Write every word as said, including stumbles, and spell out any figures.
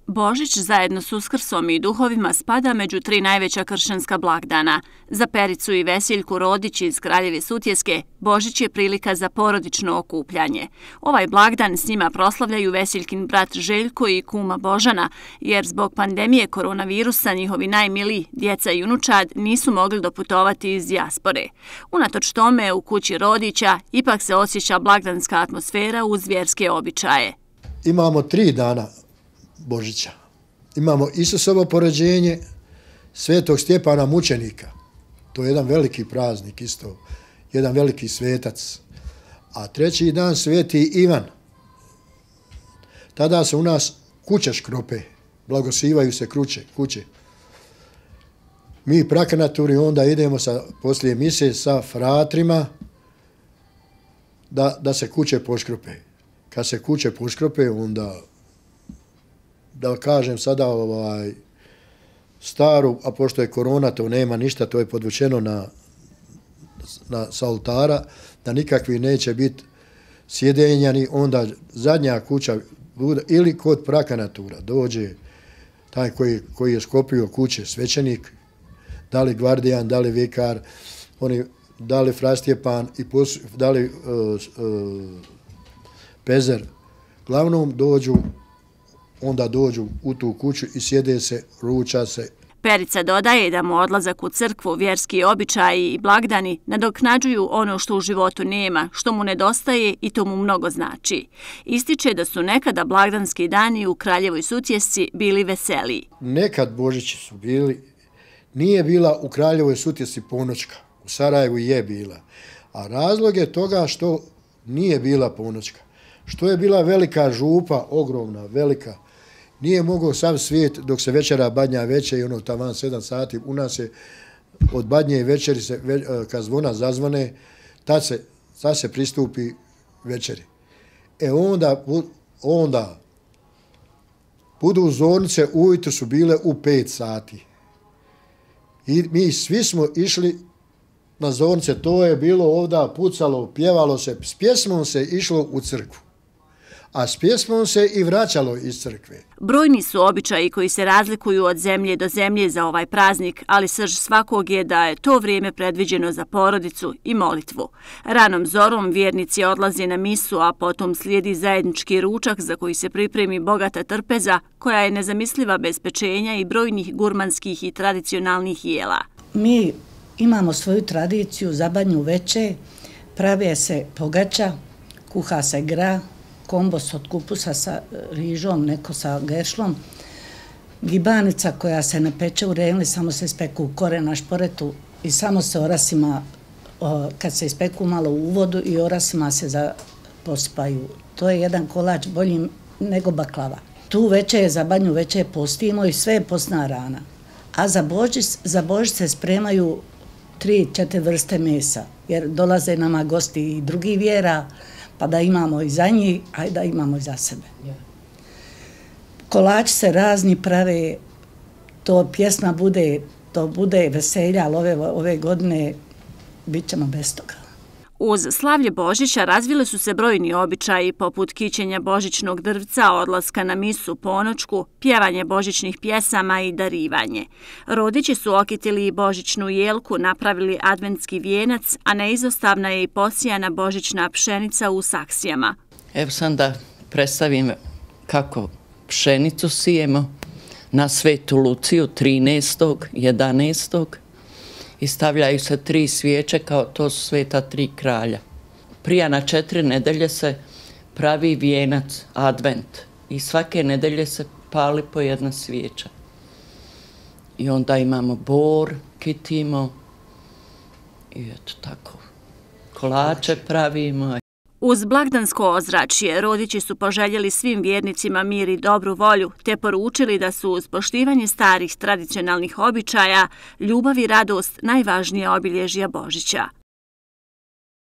Božić zajedno s Uskrsom i duhovima spada među tri najveća kršćanska blagdana. Za Pericu i Vesiljku Rodić iz Kraljeve Sutjeske, Božić je prilika za porodično okupljanje. Ovaj blagdan s njima proslavljaju Vesiljkin brat Željko i kuma Božana, jer zbog pandemije koronavirusa njihovi najmiliji, djeca i unučad, nisu mogli doputovati iz dijaspore. Unatoč tome, u kući Rodića ipak se osjeća blagdanska atmosfera uz vjerske običaje. Imamo tri dana Božića. Imamo Isusovo porođenje, Svetog Stjepana mučenika. To je jedan veliki praznik isto, jedan veliki svetac. A treći dan Sveti Ivan. Tada se u nas kuće škrope, blagosivaju se kuće. kuće. Mi prakanaturi onda idemo sa, poslije mise sa fratrima da, da se kuće poškrope. Kad se kuće poškrope, onda da kažem sada ovaj, staru, a pošto je korona, to nema ništa, to je podvučeno na, na, sa oltara, da nikakvi neće biti sjedenjani, onda zadnja kuća bude, ili kod prakanatura dođe taj koji, koji je skopio kuće, svećenik, da li gvardijan, da li vikar, oni, da li frastjepan, i pos, da li uh, uh, pezer, glavnom dođu onda dođu u tu kuću i sjede se, ruča se. Perica dodaje da mu odlazak u crkvu, vjerski običaji i blagdani nadoknađuju ono što u životu nema, što mu nedostaje i to mu mnogo znači. Ističe da su nekada blagdanski dani u Kraljevoj Sutjesci bili veseliji. Nekad Božići su bili, nije bila u Kraljevoj Sutjesci ponoćka, u Sarajevu je bila. A razlog je toga što nije bila ponoćka, što je bila velika župa, ogromna, velika. Nije mogao sam svijet dok se večera badnja veće i ono taman sedam sati. U nas je od badnje večeri, se, kad zvona zazvone, tad se, tad se pristupi večeri. E onda, onda budu zornice ujutro su bile u pet sati. I mi svi smo išli na zornice, to je bilo ovdje, pucalo, pjevalo se, s pjesmom se išlo u crkvu. A s pjesmom se i vraćalo iz crkve. Brojni su običaji koji se razlikuju od zemlje do zemlje za ovaj praznik, ali srž svakog je da je to vrijeme predviđeno za porodicu i molitvu. Ranom zorom vjernici odlaze na misu, a potom slijedi zajednički ručak za koji se pripremi bogata trpeza, koja je nezamisliva bez pečenja i brojnih gurmanskih i tradicionalnih jela. Mi imamo svoju tradiciju za badnju veče, prave se pogača, kuha se gra, kombos od kupusa sa rižom, neko sa gešlom, gibanica koja se ne peče u renli, samo se ispeku u kore na šporetu i samo se orasima, kad se ispeku malo u vodu i orasima se za, posipaju. To je jedan kolač bolji nego baklava. Tu veče, za badnju veče postimo i sve je postna rana. A za Božić, za Božić se spremaju tri, četiri vrste mesa, jer dolaze nama gosti i drugi vjera, pa da imamo i za njih, a i da imamo i za sebe. Kolači se razni prave, to pjesma bude, to bude veselja, ali ove, ove godine bit ćemo bez toga. Uz slavlje Božića razvile su se brojni običaji poput kićenja božićnog drvca, odlaska na misu, ponoćku, pjevanje božićnih pjesama i darivanje. Rodići su okitili i božićnu jelku, napravili adventski vijenac, a neizostavna je i posijana božićna pšenica u saksijama. Evo sam da predstavim kako pšenicu sijemo na Svetu Luciju trinaestog jedanaestog i stavljaju se tri svijeće, kao to su sveta tri kralja. Prije na četiri nedelje se pravi vijenac, advent, i svake nedelje se pali po jedna svijeća. I onda imamo bor, kitimo i eto tako, kolače pravimo. Uz blagdansko ozračje Rodići su poželjeli svim vjernicima mir i dobru volju, te poručili da su uz poštivanje starih tradicionalnih običaja ljubav i radost najvažnija obilježja Božića.